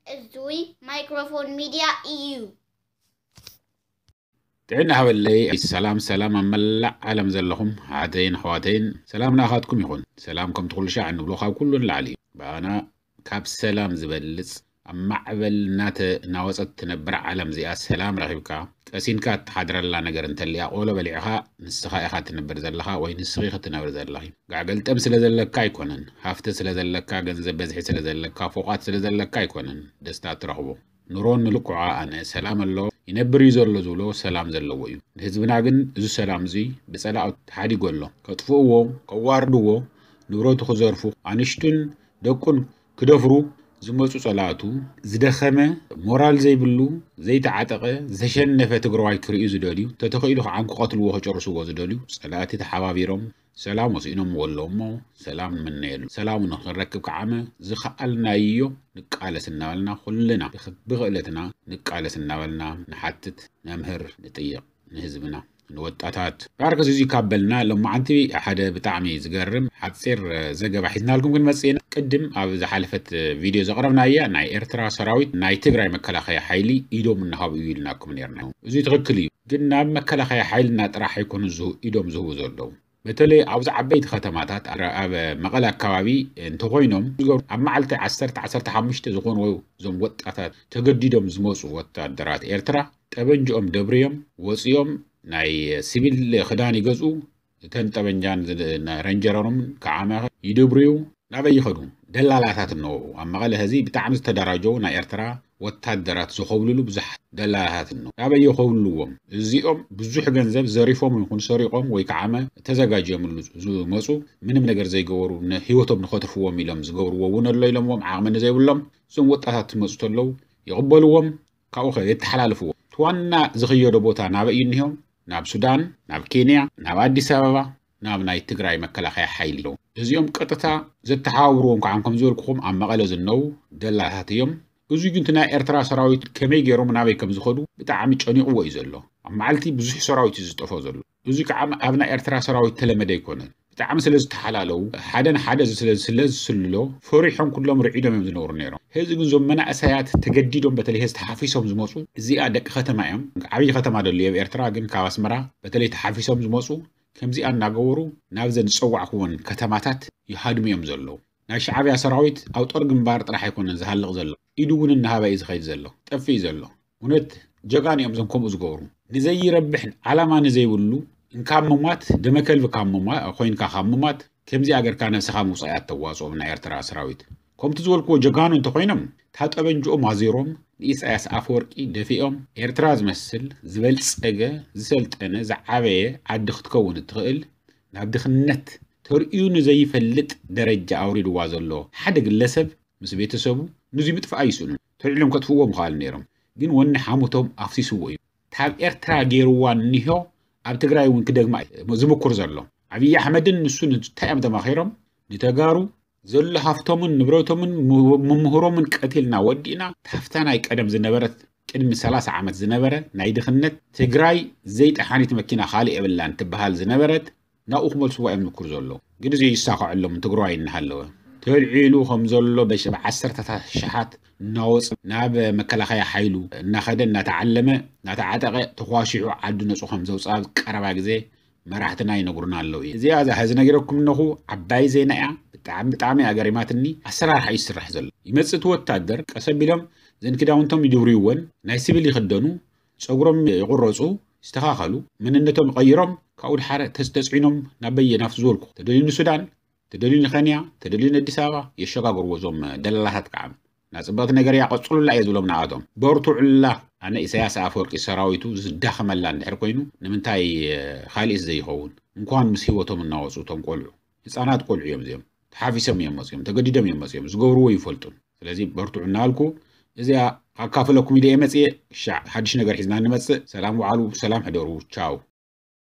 እዙይ ማይክሮፎን ሚድያ እዩ። ጥዕና ሃበለይ። ሰላም ሰላም፣ ኣብ መላእ ዓለም ዘለኹም ኣሓተይን ኣሕዋተይን፣ ሰላም ንኣኻትኩም ይኹን። ሰላም ከምቲ ኩሉ ሻዕ እንብሎ ካብ ኩሉ ንላዕሊ እዩ። ብኣና ካብ ሰላም ዝበልጽ፣ ኣብ ማዕበል እናተናወጸት ትነብር ዓለም እዚኣ ሰላም ረኺብካ ቀሲንካ እትሓድረላ ነገር እንተልያ ቆሎ በሊዕኻ ንስኻ ኢኻ ትነብር ዘለኻ ወይ ንስኺ ክትነብር ዘለኺ። ጋዕ ገልጠም ስለ ዘለካ ኣይኮነን፣ ሃፍቲ ስለ ዘለካ፣ ገንዘብ በዝሒ ስለ ዘለካ፣ ፎቓት ስለ ዘለካ ኣይኮነን ደስታ እትረኽቦ። ኑሮ ንልክዖ ኣነ ሰላም ኣሎ፣ ይነብር እዩ ዘሎ ዝብሎ ሰላም ዘለዎ እዩ። ንህዝብና ግን እዚ ሰላም እዚ ብጸላእቱ ተሓዲጉ ኣሎ። ከጥፍእዎ፣ ከዋርድዎ፣ ንብረቱ ክዘርፉ፣ ኣንሽቱን ደቁን ክደፍሩ ዝመጹ ጸላእቱ፣ ዝደኸመ፣ ሞራል ዘይብሉ፣ ዘይተዓጠቐ፣ ዝተሸነፈ ትግራዋይ ክርእዩ ዝደልዩ፣ ተተኽኢሉ ከዓ ክቐትልዎ ክጨርስዎ ዝደልዩ ጸላእቲ ተሓባቢሮም ሰላም ወሲኖምዎ ኣለዉ እሞ ሰላም ንምነየሉ። ሰላሙ ንኽንረክብ ከዓመ ዝኸኣልናዮ ንቃለስ እናበልና ኩልና ብኽ-፣ ብኽእለትና ንቃለስ እናበልና ንሓትት፣ ነምህር፣ ንጥይቕ ንህዝብና፣ ንወጣታት። ዳርክ እዚ ካብ በልና ሎማዓንቲ ሓደ ብጣዕሚ ዝገርም ሓፂር ዘገባ ሒዝናልኩም ክንመፅእ ኢና። ቅድም ኣብ ዝሓለፈት ቪድዮ ዘቕረብናያ ናይ ኤርትራ ሰራዊት ናይ ትግራይ መከላኸያ ሓይሊ ኢዶም እናሃቡ እዩ ኢልናኩም ነርና። እዚ ትኽክል እዩ፣ ግን ናብ መከላኸያ ሓይልና ጥራሕ ኣይኮኑ ዝሁ-፣ ኢዶም ዝህቡ ዘለዉ። በተለይ ኣብዚ ዓበይቲ ከተማታት ኣብ መቐለ ኣካባቢ እንተኾይኖም ኣብ መዓልቲ ዓሰርተ ዓሰርተ ሓሙሽተ ዝኾኑ እዞም ወጣታት ተገዲዶም ዝመፁ ወታደራት ኤርትራ ጠበንጅኦም ደብርዮም ወፅዮም ናይ ሲቪል ክዳን ይገዝኡ። እተን ጠበንጃን ዝ-፣ ና-፣ ረንጀሮምን ከዓመ ይደብርዩ። ናበይ ይኸዱ? ደላላታት እነዉ። ኣብ መቐለ ሕዚ ብጣዕሚ ዝተደራጀዉ ናይ ኤርትራ ወታደራት ዝኾብልሉ ብዙሓት ደላላታት እነዉ። ናበይ የኾብልልዎም? እዚኦም ብዙሕ ገንዘብ ዘሪፎም ይኹን ሰሪቖም ወይ ከዓመ ተዘጋጅዮምሉ ዝመፁ፣ ምንም ነገር ዘይገበሩ፣ ንህይወቶም ንኸትርፍዎም ኢሎም ዝገብርዎ እውን ኣሎ ኢሎምዎም፣ ዓቕሚ ንዘይብሎም እዞም ወጣታት ትመፁ ተለዉ ይቕበልዎም። ካብኡ ኸ የተሓላልፍዎ። እቲ ዋና ዝኽየዶ ቦታ ናበይ እዩ እኒሆ? ናብ ሱዳን፣ ናብ ኬንያ፣ ናብ ኣዲስ ኣበባ፣ ናብ ናይ ትግራይ መከላኸያ ሓይሊ እዮም። እዚኦም ቀጥታ ዘተሓባብርዎም ከዓ ከም ዝበልኩኹም ኣብ መቐለ ዝነዉ ደላላት እዮም። እዚ ግን እቲ ናይ ኤርትራ ሰራዊት ከመይ ገይሮም ናበይ ከም ዝኸዱ ብጣዕሚ ጨኒቕዎ እዩ ዘሎ። ኣብ መዓልቲ ብዙሕ ሰራዊት እዩ ዝጠፎ ዘሎ። እዚ ከዓ ኣብ ናይ ኤርትራ ሰራዊት ተለመደ ኣይኮነን። ብጣዕሚ ስለ ዝተሓላለዉ፣ ሓደ ንሓደ ስለ፣ ስለ ዝስልሎ፣ ፈሪሖም ኩሎም ርዒዶም እዮም ዝነብሩ ነይሮም። ሕዚ ግን እዞም መናእሰያት ተገዲዶም፣ በተለይ ሕዚ ተሓፊሶም ዝመፁ፣ እዚኣ ደቂ ከተማ እዮም። ዓብዪ ከተማ ደሉ ኣብ ኤርትራ፣ ግን ካብ ኣስመራ በተለይ ተሓፊሶም ዝመፁ፣ ከምዚኣ እናገበሩ ናብዘን ዝፀዋዕኩወን ከተማታት ይሃድሙ እዮም ዘለዉ። ናይ ሻዕብያ ሰራዊት ኣብ ጦር ግንባር ጥራሕ ኣይኮነን ዝሃልቕ ዘሎ፣ ኢዱ እውን እናሃበ እዩ ዝኸይድ ዘሎ፣ ጠፊእ ዘሎ። እውነት ጀጋኑ እዮም እዞም ከምኡ ዝገብሩ። ንዘይረብሕ ዓላማ ንዘይብሉ እንካብ ምሟት፣ ደመ ከልቢ ካብ ምሟ-፣ ኮይንካ ካብ ምሟት፣ ከምዚኣ ጌርካ ነብስኻ ምውጻእ እያ እተዋጽኦም ናይ ኤርትራ ሰራዊት። ከምቲ ዝበልክዎ ጀጋኑ እንተኾይኖም፣ እታ ጠበንጅኦም ኣዚሮም ንኢሳያስ ኣፈወርቂ ደፊኦም፣ ኤርትራ ዝመስል ዝበልጸገ፣ ዝሰልጠነ፣ ዝዓበየ ዓዲ ክትከውን እትኽእል፣ ናብ ድኽነት ተርእዩ ንዘይፈልጥ ደረጃ ኣውሪድዋ ዘሎ ሓደ ግለሰብ ምስ ቤተሰቡ፣ ንዙይ ምጥፋእ ኣይስእኑን። ተልዒሎም ከጥፍእዎ ምኽኣሉ ነይሮም። ግን ወኒ ሓሙቶም ኣፍሲስዎ እዩ። ካብ ኤርትራ ገይርዋ እኒሆ ኣብ ትግራይ እውን ክደግማ እዩ ዝምኩር ዘሎ። ኣብይ ኣሕመድን ንሱን እንታይ እዮም ተማኺሮም? ንተጋሩ ዘሎ ሃፍቶምን ንብረቶምን ም-፣ ምምህሮምን ቀቲልና ወዲእና፣ ታፍታ ናይ ቀደም ዝነበረት፣ ቅድሚ ሰላሳ ዓመት ዝነበረ ናይ ድኽነት፣ ትግራይ ዘይጠሓኒት መኪና ካልእ የብላን ትበሃል ዝነበረት፣ ናብኡ ክመልስዋ እዮም ዝምክሩ ዘለዉ። ግን እዚ ይሳኸዐሎም ትግራዋይ እናሃለወ። ተልዒሉ ከም ዘሎ በሽ-፣ ብዓሰርተታት ሽሓት እናወፀ ናብ መከላኸያ ሓይሉ እናኸደ፣ እናተዓለመ፣ እናተዓጠቐ፣ ተኳሺሑ ዓዱ ነፁ ከም ዘውፅኣ ኣብ ቀረባ ግዜ መራሕትና ይነግሩና ኣለዉ እዩ። እዚኣ እዛ ሕዚ ነጊረኩም እነኹ ዓባይ ዜና እያ። ብጣዕሚ፣ ብጣዕሚ እያ ገሪማትኒ። ኣሰራርሓ እዩ ዝስራሕ ዘሎ። ይመፅእ እቲ ወታደር፣ ቀስ ኣቢሎም ዘን ክዳውንቶም ይድብርይወን፣ ናይ ሲቪል ይኽደኑ፣ ፀጉሮም ይቑረፁ፣ ይስተኻኸሉ፣ መንነቶም ይቐይሮም፣ ካብኡ ድሓረ ተስ-፣ ተፅዒኖም ናብ በየናፍት ዝበልኩ፣ ተደልዩ ንሱዳን፣ ተደልዩ ንኸንያ፣ ተደልዩ ንኣዲስ ኣበባ የሸጋግርዎ እዞም ደላላታት ከዓ። ናጽብቕቲ ነገር እያ፣ ቀጽሉላ እየ ዝብሎም ንኣቶም። በርትዑላ። ኣነ ኢሳያስ ኣፈወርቂ ሰራዊቱ ዝዳኸመላ እንድሕር ኮይኑ፣ ንምንታይ፣ እ፣ ካልእስ ዘይኸውን? እንኳን ምስ ህይወቶም እናወጹ እቶም ቆልዑ፣ ህጻናት ቆልዑ እዮም እዚኦም። ተሓፊሶም እዮም መጺኦም፣ ተገዲዶም እዮም መጺኦም፣ ዝገብርዎ ይፈልጡን። ስለዚ በርትዑ እናበልኩ፣ እዚኣ ካካፍለኩም ኢለ እየ መጽየ። ሻዕ ሓድሽ ነገር ሒዝና እንመጽእ። ሰላም ውዓሉ፣ ሰላም ሕደሩ። ቻው።